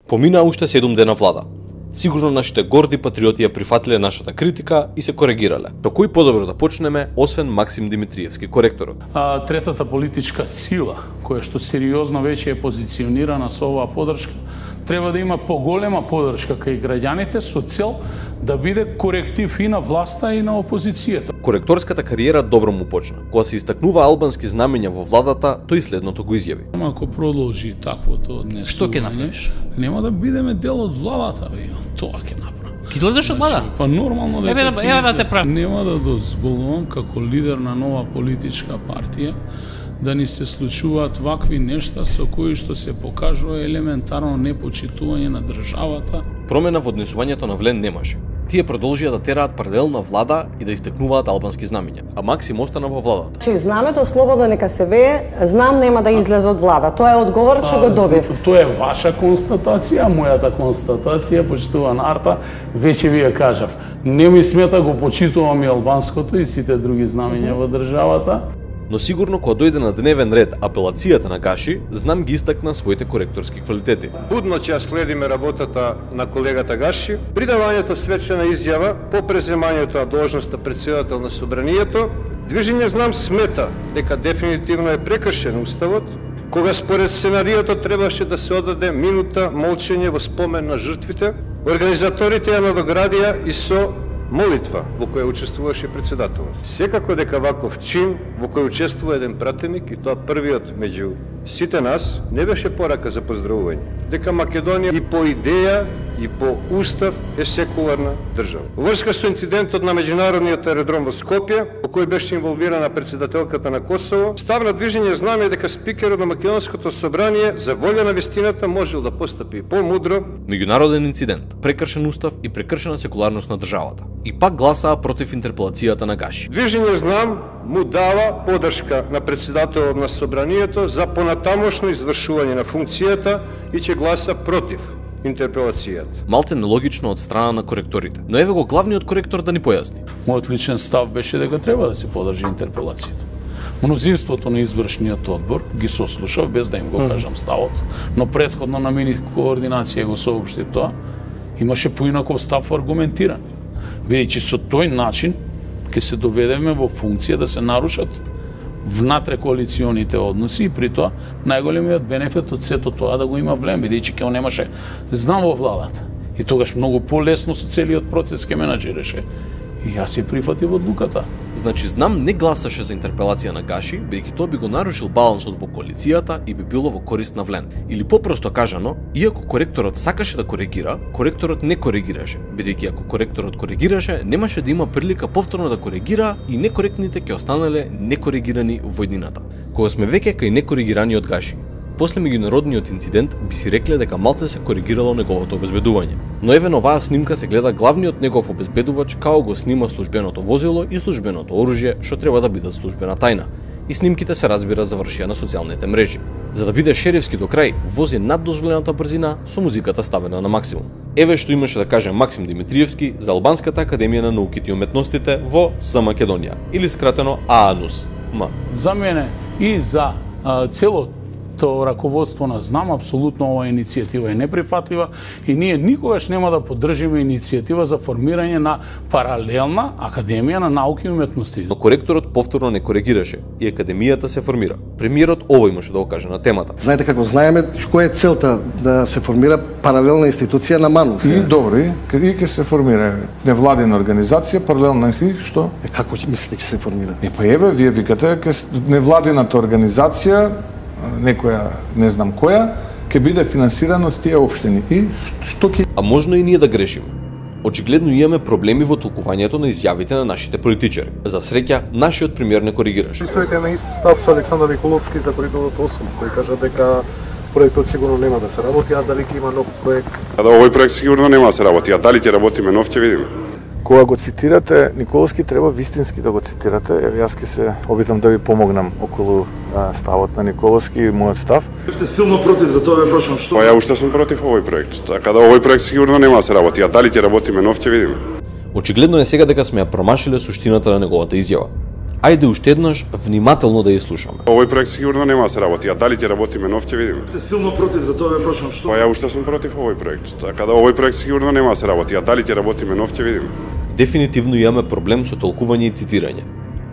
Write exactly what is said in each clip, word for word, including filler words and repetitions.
Помина уште седум дена влада. Сигурно нашите горди патриоти ја прифатиле нашата критика и се коригирале. Со кој подобро да почнеме, освен Максим Димитриевски, коректорот? А, третата политичка сила, која што сериозно веќе е позиционирана со оваа подршка, треба да има поголема подршка кај граѓаните со цел да биде коректив и на власта и на опозицијата. Коректорската кариера добро му почна. Кога се истакнува албански знамења во владата, тој следното го изјави. Ако продолжи таквото однесување, што ќе направиш? Нема да бидеме дел од владата, бе. Тоа ќе направам. Ќе излезеш од влада? Па нормално дека еве, еве да те правам. Нема да дозволувам како лидер на нова политичка партија да ни се случуваат вакви нешта со кои што се покажува елементарно непочитување на државата. Промена во однесувањето на влен немаше. Тие продолжија да тераат паралелна влада и да истакнуваат албански знамења, а Максим остана во владата. Чи знамето слободно нека се вее, знам нема да излезе од влада. Тоа е одговор што го добив. Тоа е ваша констатација, мојата констатација, почитуван Арта, веќе ви ја кажав. Не ми смета, го почитувам и албанското и сите други знамења во државата. Но сигурно кога дојде на дневен ред апелацијата на Гаши, знам ги истакна своите коректорски квалитети. Будно ќе ја следиме работата на колегата Гаши, придавањето свечена изјава по преземањето на должноста претседател на собранието. Движење Знам смета дека дефинитивно е прекршен уставот, кога според сценариото требаше да се одаде минута молчење во спомен на жртвите. Организаторите ја надоградија и со молитва во која учествуваше председателот. Секако дека ваков чин во кој учествува еден пратеник, и тоа првиот меѓу сите нас, не беше порака за поздравување. Дека Македонија и по идеја и по устав е секуларна држава. Во врска со инцидентот на меѓународниот аеродром во Скопје, во кој беше инволвирана председателката на Косово, став на Движење Знам е дека спикерот на Македонското собрание за волја на вистината можел да постапи помудро. Меѓународен инцидент, прекршен устав и прекршена секуларност на државата. И пак гласаа против интерпелацијата на Гаши. Движење Знам му дава подршка на председателот на собранието за понатамошно извршување на функцијата и ќе гласа против интерпелацијата. Малце нелогично од страна на коректорите, но еве го главниот коректор да ни појасни. Мојот личен став беше дека треба да се подржи интерпелацијата. Мнозинството на извршниот одбор ги сослушав без да им го кажам ставот, но претходно на мини координација го соопшти тоа, имаше поинаков став аргументиран. Бидејќи со тој начин ќе се доведеме во функција да се нарушат внатре коалиционите односи и при тоа најголемиот бенефит од сето тоа да го има влем, бидејќи ќе немаше Знам во владата. И тогаш многу полесно со целиот процес ќе менаџираше. И јас ја прифатив одлуката. Значи Знам не гласаше за интерпелација на Гаши, бидејќи тоа би го нарушил балансот во коалицијата и би било во корист на влен. Или попросто кажано, иако коректорот сакаше да коригира, коректорот не коригираше, бидејќи ако коректорот коригираше, немаше да има прилика повторно да коригира и некоректните ќе останале некоригирани во еднината. Кога сме веќе кај некоригираниот Гаши, после меѓународниот инцидент би си рекле дека малце се коригирало неговото обезбедување. Но еве на оваа снимка се гледа главниот негов обезбедувач како го снима службеното возило и службеното оружје што треба да бидат службена тајна. И снимките се разбира завршија на социјалните мрежи. За да биде шерифски до крај, вози над дозволената брзина со музиката ставена на максимум. Еве што имаше да каже Максим Димитриевски за Албанската академија на науките и уметностите во С Македонија, или скратено ААНУС. М. За мене и за а, целото то раководство на Знам, апсолутно оваа иницијатива е неприфатлива и ние никогаш нема да поддржиме иницијатива за формирање на паралелна академија на науки и уметности. Но коректорот повторно не коригираше и академијата се формира. Премиерот ово имаше да го каже на темата. Знаете како знаеме која е целта да се формира паралелна институција на МАНУС? И добро, и ќе се формира невладина организација, паралелна институција, што? Е, како мислите ќе се формира? Е, па еве, вие викате, невладината организација, некоја, не знам која, ќе биде финансирана од тие општини. И што ќе... А можно и ние да грешиме. Очигледно имаме проблеми во толкувањето на изјавите на нашите политичари. За среќа, нашиот премиер не коригираше. Стоите на ист став со Александар Николовски за коридорот осум, кој кажа дека проектот сигурно нема да се работи, а дали ќе има нов проект? А да овој проект сигурно нема да се работи, а дали ќе работиме нов ќе видиме. Кога го цитирате Николовски, треба вистински да го цитирате. Еве јас ќе се обидам да ви помогнам околу а, ставот на Николовски и мојот став. Сте силно против, за тоа ве прашам што? Па ја уште сум против овој проект. Така да овој проект сигурно нема да се работи, а дали ќе работиме нов ќе видиме. Очигледно е сега дека сме ја промашиле суштината на неговата изјава. Ајде уште еднаш внимателно да ја слушаме. Овој проект сигурно нема да се работи, а дали ќе работиме нов ќе видиме. Сте силно против, за тоа ве прашам што? Па ја уште сум против овој проект. Така да овој проект сигурно нема да се работи, а дали ќе работиме нов ќе видиме. Дефинитивно имаме проблем со толкување и цитирање.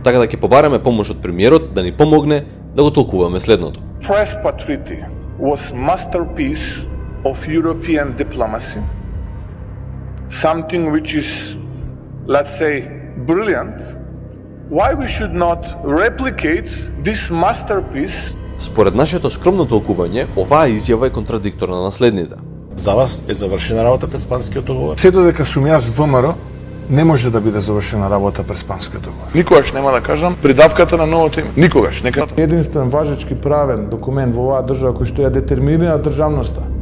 Така да ќе побараме помош од премиерот да ни помогне да го толкуваме следното. Prespa Treaty was masterpiece of European diplomacy. Something which is, let's say, brilliant. Why we should not replicate this masterpiece? Според нашето скромно толкување, оваа изјава е контрадикторна на следните. За вас е завршена работа Преспанскиот договор? Се додека сум јас ВМРО, не може да биде завршена работа Преспанскиот договор. Никогаш нема да кажам придавката на новото име. Никогаш. Нека... Единствен важечки правен документ во оваа држава кој што ја детерминира државноста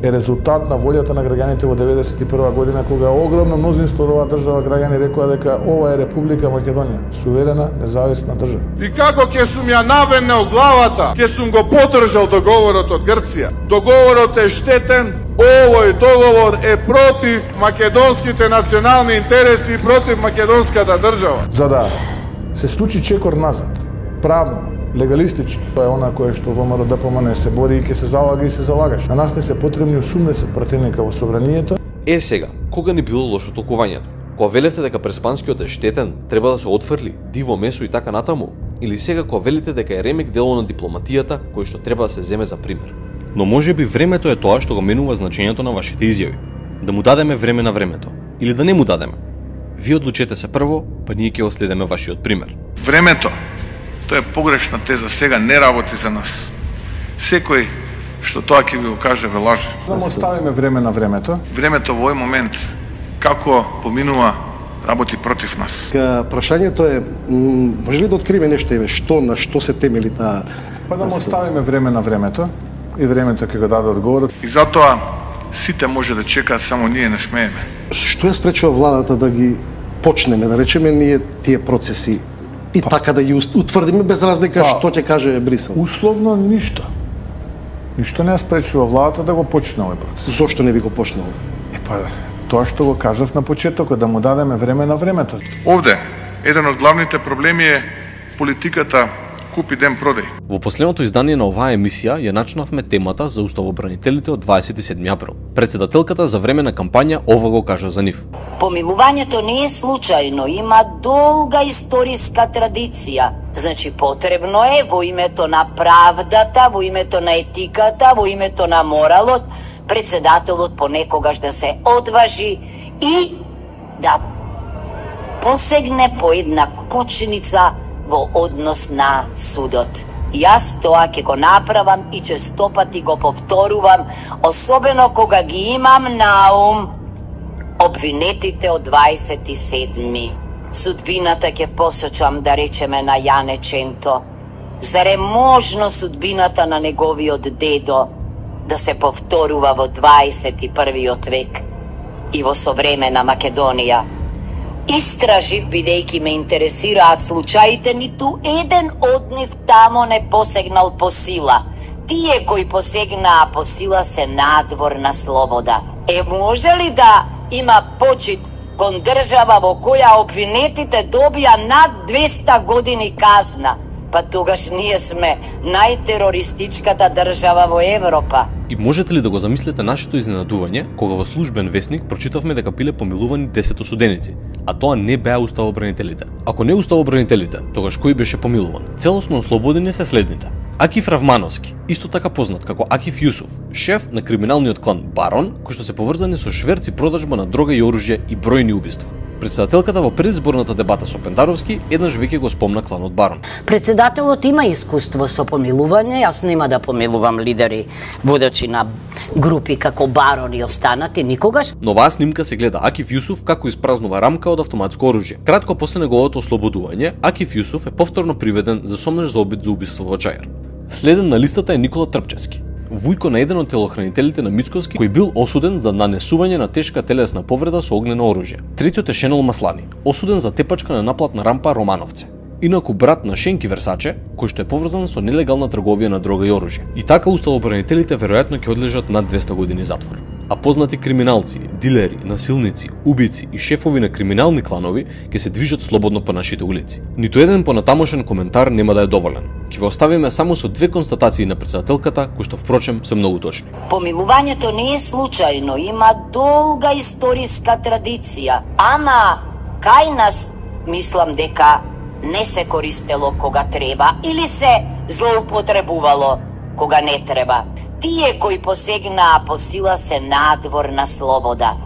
е резултат на волјата на граѓаните во деветдесет и прва година, кога огромно мнозинство од оваа држава граѓани рекоа дека ова е Република Македонија, суверена, независна држава. И како ќе сум ја навенел главата, ќе сум го подржал договорот од Грција. Договорот е штетен, овој договор е против македонските национални интереси и против македонската држава. За да се случи чекор назад, правно, легалистички, тоа е она кое што ВМРО ДПМН се бори и ќе се залага и се залагаш. На нас не се потребни осумдесет пратеника во собранието. Е сега, кога не било лошо толкувањето? Кога велевте дека Преспанскиот е штетен, треба да се отфрли, диво месо и така натаму? Или сега кога велите дека е ремек дело на дипломатијата, кој што треба да се земе за пример? Но може би времето е тоа што го менува значењето на вашите изјави. Да му дадеме време на времето, или да не му дадеме. Ви одлучете се прво, па ние ќе го следеме вашиот пример. Времето, тоа е погрешна теза, сега не работи за нас. Секој што тоа ќе ви го каже ве лаже. Да му оставиме време на времето. Времето во овој момент како поминува работи против нас. Ка прашањето е, може ли да откриеме нешто еве што на што се темели таа? Па да му оставиме време на времето и времето ќе го даде одговорот. И затоа сите може да чекаат, само ние не смееме. Што ја спречува владата да ги почнеме, да речеме ние тие процеси и па, така да ги утврдиме без разлика па, што ќе каже Брисел? Условно ништо. Ништо не ја спречува владата да го почне овој процес. Зошто не би го почнал? Е па тоа што го кажав на почетокот, да му дадеме време на времето. Овде еден од главните проблеми е политиката купи ден продај. Во последното издание на оваа емисија ја начнавме темата за уставобранителите од дваесет и седми април. Председателката за време на кампања ова го кажа за нив. Помилувањето не е случајно, има долга историска традиција. Значи потребно е во името на правдата, во името на етиката, во името на моралот, председателот понекогаш да се одважи и да посегне по една кочница во однос на судот. Јас тоа ќе го направам и честопати го повторувам, особено кога ги имам на ум обвинетите од дваесет и седми. Судбината ќе посочам, да речеме, на Јане Ченто. Заре можно судбината на неговиот дедо да се повторува во дваесет и првиот век и во современа Македонија? Истражив, бидејќи ме интересираат случаите, ниту еден од нив тамо не посегнал по сила. Тие кои посегнаа по сила се надвор на слобода. Е, може ли да има почит кон држава во која обвинетите добија над двеста години казна? Па тогаш ние сме најтерористичката држава во Европа. И можете ли да го замислите нашето изненадување кога во службен весник прочитавме дека биле помилувани десет осуденици, а тоа не беа уставобранителите. Ако не уставобранителите, тогаш кој беше помилуван? Целосно ослободени се следните: Акиф Равмановски, исто така познат како Акиф Јусуф, шеф на криминалниот клан Барон, кој што се поврзани со шверци, продажба на дрога и оружје и бројни убиства. Председателката во предизборната дебата со Пендаровски еднаш веќе го спомна кланот Барон. Председателот има искуство со помилување, јас нема да помилувам лидери, водачи на групи како Барон и останати никогаш. Но оваа снимка се гледа Акиф Јусуф како испразнува рамка од автоматско оружје. Кратко после неговото ослободување, Акиф Јусуф е повторно приведен за сомнеш за обид за убиство во Чајар. Следен на листата е Никола Трпчевски, вујко на еден од телохранителите на Мицковски, кој бил осуден за нанесување на тешка телесна повреда со огнено оружје. Третиот е Шенол Маслани, осуден за тепачка на наплатна рампа Романовце. Инаку брат на Шенки Версаче, кој што е поврзан со нелегална трговија на дрога и оружје. И така уставобранителите веројатно ќе одлежат над двеста години затвор. а познати криминалци, дилери, насилници, убици и шефови на криминални кланови ќе се движат слободно по нашите улици. Ниту еден понатамошен коментар нема да е доволен. Ќе ве оставиме само со две констатации на председателката, кои што впрочем се многу точни. Помилувањето не е случајно, има долга историска традиција, ама кај нас мислам дека не се користело кога треба или се злоупотребувало кога не треба. Тие кои посегнаа по сила се надвор на слобода.